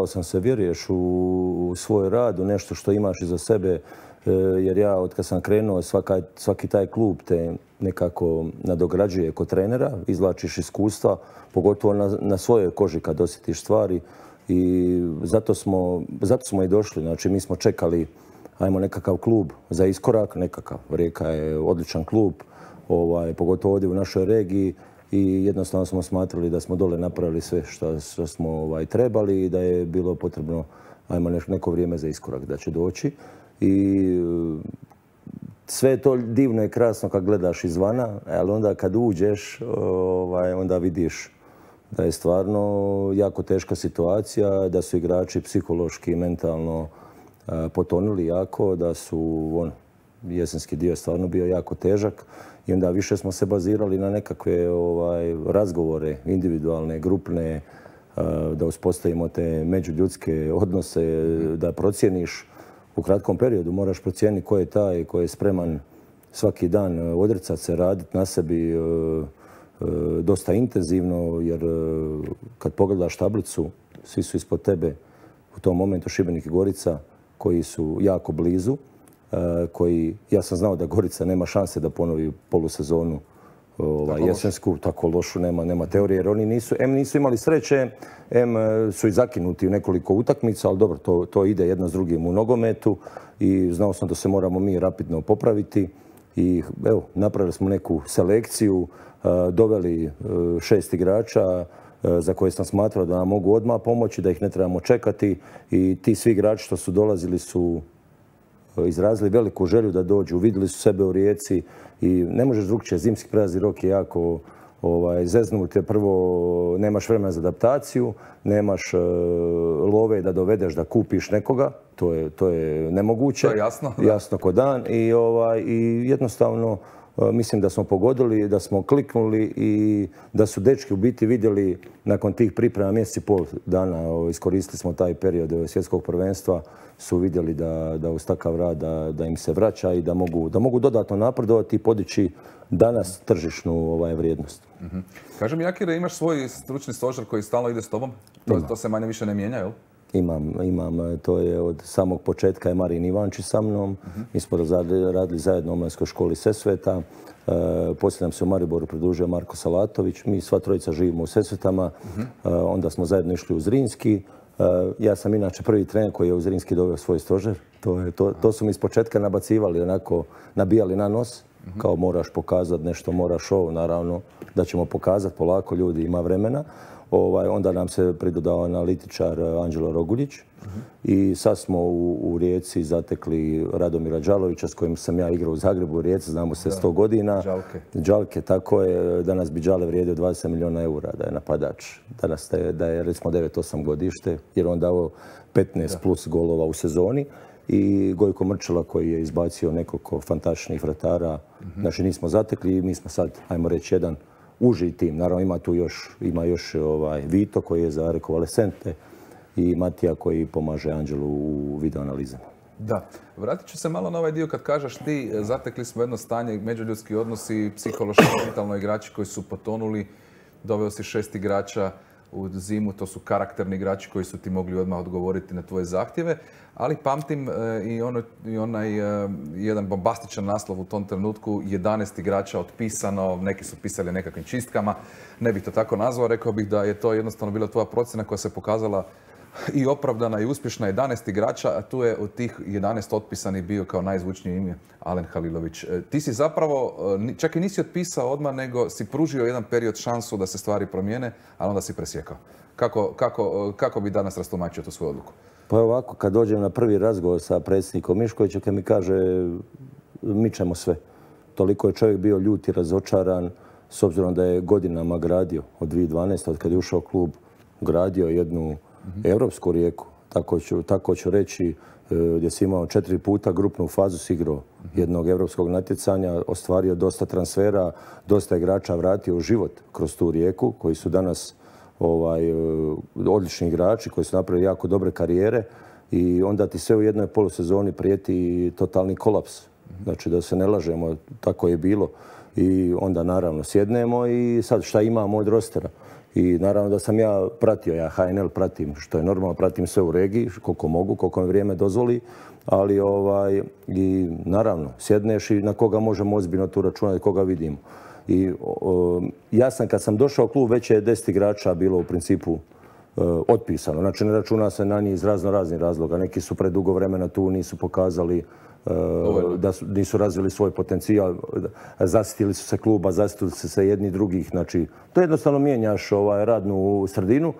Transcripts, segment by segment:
nadao sam se, vjeruješ u svoj rad, u nešto što imaš iza sebe, jer ja od kad sam krenuo svaki taj klub te nekako nadograđuje kod trenera, izvlačiš iskustva, pogotovo na svojoj koži kad osjetiš stvari i zato smo i došli. Znači mi smo čekali, ajmo nekakav klub za iskorak, nekakav. Rijeka je odličan klub, pogotovo ovdje u našoj regiji i jednostavno smo smatrali da smo dole napravili sve što smo trebali i da je bilo potrebno, ajmo neko vrijeme za iskorak da će doći. I sve je to divno i krasno kad gledaš izvana, ali onda kad uđeš, onda vidiš da je stvarno jako teška situacija, da su igrači psihološki i mentalno potonuli jako, da su jesenski dio stvarno bio jako težak i onda više smo se bazirali na nekakve razgovore, individualne, grupne, da uspostavimo te međuljudske odnose, da procijeniš u kratkom periodu, moraš procijeniti ko je taj koji je spreman svaki dan odricati se, raditi na sebi dosta intenzivno, jer kad pogledaš tablicu, svi su ispod tebe u tom momentu Šibenik i Gorica koji su jako blizu, ja sam znao da Gorica nema šanse da ponovi polusezonu jesensku, tako lošu, nema teorije, jer oni nisu imali sreće, su i zakinuti u nekoliko utakmica, ali dobro, to ide jedno s drugim u nogometu i znao sam da se moramo mi rapidno popraviti i evo, napravili smo neku selekciju, doveli 6 igrača za koje sam smatrao da nam mogu odmah pomoći, da ih ne trebamo čekati i ti svi igrači što su dolazili su izrazili veliku želju da dođu, vidjeli su sebe u Rijeci i ne možeš drugčije, zimski prelazni rok je jako zeznut, prvo nemaš vremena za adaptaciju, nemaš love da dovedeš da kupiš nekoga, to je nemoguće. To je jasno. Jasno ko dan i jednostavno mislim da smo pogodili, da smo kliknuli i da su dečki u biti vidjeli nakon tih priprema mjesec i pol dana, iskoristili smo taj period svjetskog prvenstva, su vidjeli da uz takav rad da im se vraća i da mogu dodatno napredovati i podići danas tržišnu vrijednost. Kaži mi, Jakire, imaš svoj stručni stožer koji stalno ide s tobom? To se manje više ne mijenja, jel? Imam, to je od samog početka je Marin Ivančić sa mnom. Mi smo radili zajedno u Omladinskoj školi Sesveta. Poslije nam se u Mariboru pridružio Marko Salatović. Mi sva trojica živimo u Sesvetama. Onda smo zajedno išli u Zrinski. Ja sam inače prvi trener koji je u Zrinski doveo svoj stožer. To su mi iz početka nabacivali, onako nabijali na nos. Kao moraš pokazati nešto, moraš ovo, naravno da ćemo pokazati polako, ljudi, ima vremena. Onda nam se pridodao analitičar Anđelo Roguljić i sad smo u Rijeci zatekli Radomira Đalovića s kojim sam ja igrao u Zagrebu u Rijeci, znamo se 100 godina. Đalke, tako je. Danas bi Đale vrijedio 20 milijuna eura da je napadač. Danas da je recimo 9-8 godište jer on dao 15 plus golova u sezoni. I Gojko Mrčela koji je izbacio nekoliko fantastičnih vratara. Znači nismo zatekli i mi smo sad, ajmo reći, jedan uži tim. Naravno ima još Vito koji je za rekonvalescente i Matija koji pomaže Anđelu u videoanalizama. Da. Vratit ću se malo na ovaj dio kad kažeš ti, zatekli smo jedno stanje, međuljudski odnosi, psihološki, mentalno igrači koji su potonuli, doveo si 6 igrača u zimu, to su karakterni igrači koji su ti mogli odmah odgovoriti na tvoje zahtjeve, ali pamtim i onaj jedan bombastičan naslov u tom trenutku, 11 igrača otpisano, neki su pisali nekakvim čistkama, ne bih to tako nazvao, rekao bih da je to jednostavno bila tvoja procjena koja se pokazala i opravdana i uspješna. 11 igrača, a tu je od tih 11 otpisanih bio kao najzvučnije ime Alen Halilović. Ti si zapravo, čak i nisi otpisao odmah, nego si pružio jedan period šansu da se stvari promijene, ali onda si presjekao. Kako bi danas rastumačio tu svoju odluku? Pa ovako, kad dođem na prvi razgovor sa predsjednikom Miškovićem, kad mi kaže mičemo sve. Toliko je čovjek bio ljut i razočaran, s obzirom da je godinama gradio od 2012. od kad je ušao klub, gradio jednu europsku Rijeku. Tako ću reći, gdje si imao 4 puta grupnu fazu s igrao jednog europskog natjecanja, ostvario dosta transfera, dosta igrača vratio u život kroz tu Rijeku, koji su danas odlični igrači, koji su napravili jako dobre karijere i onda ti sve u jednoj polusezoni prijeti totalni kolaps. Znači da se ne lažemo, tako je bilo. I onda naravno sjednemo i sad šta imamo od rostera. I naravno da sam ja pratio, ja HNL pratim, što je normalno, pratim sve u regiji, koliko mogu, koliko mi vrijeme dozvoli, ali i naravno, sjedneš i na koga možemo ozbiljno tu računati, koga vidimo. I ja sam, kad sam došao u klub, već je 10 igrača bilo u principu otpisano. Znači, ne računa se na njih iz raznih razloga. Neki su predugo vremena tu, nisu pokazali da nisu razvili svoj potencijal, zasitili su se kluba, zasitili su se jedni drugih. Znači, to jednostavno mijenjaš radnu sredinu,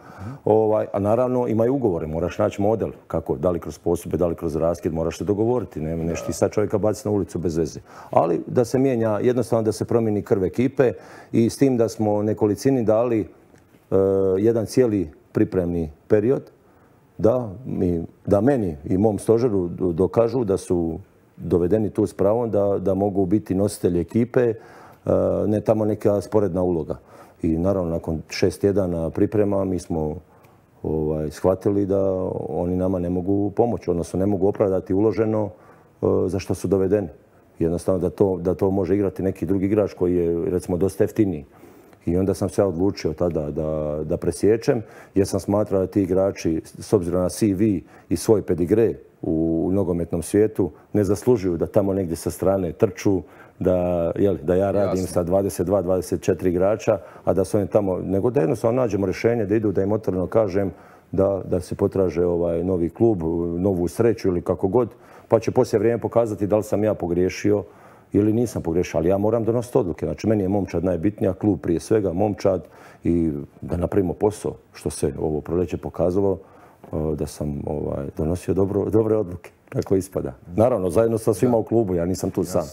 a naravno imaju ugovore, moraš naći model, kako, da li kroz posudbe, da li kroz raskid, moraš se dogovoriti, neš ti sad čovjeka baciti na ulicu bez veze. Ali da se mijenja, jednostavno da se promijeni krv ekipe i s tim da smo nekolicini dali jedan cijeli pripremni period, da meni i mom stožeru dokažu da su dovedeni tu s pravom da mogu biti nositelji ekipe, ne tamo neka sporedna uloga. I naravno, nakon 6 tjedana priprema mi smo shvatili da oni nama ne mogu pomoći, odnosno ne mogu opravdati uloženo za što su dovedeni. Jednostavno da to može igrati neki drugi igrač koji je, recimo, dosta jeftiniji. I onda sam se ja odlučio tada da presječem, jer sam smatrao da ti igrači, s obzirom na CV i svoj pedigre u nogometnom svijetu, ne zaslužuju da tamo negdje sa strane trču, da ja radim sa 22-24 igrača, a da su oni tamo, nego da jednostavno nađemo rješenje, da idu, da im otvoreno kažem da se potraže novi klub, novu sreću ili kako god, pa će poslije vrijeme pokazati da li sam ja pogriješio ili nisam pogriješio, ali ja moram donositi odluke. Znači, meni je momčad najbitnija, klub prije svega, momčad i da napravimo posao, što se ovo proljeće pokazalo, da sam donosio dobre odluke, kako ispada. Naravno, zajedno sa svima u klubu, ja nisam tu sam.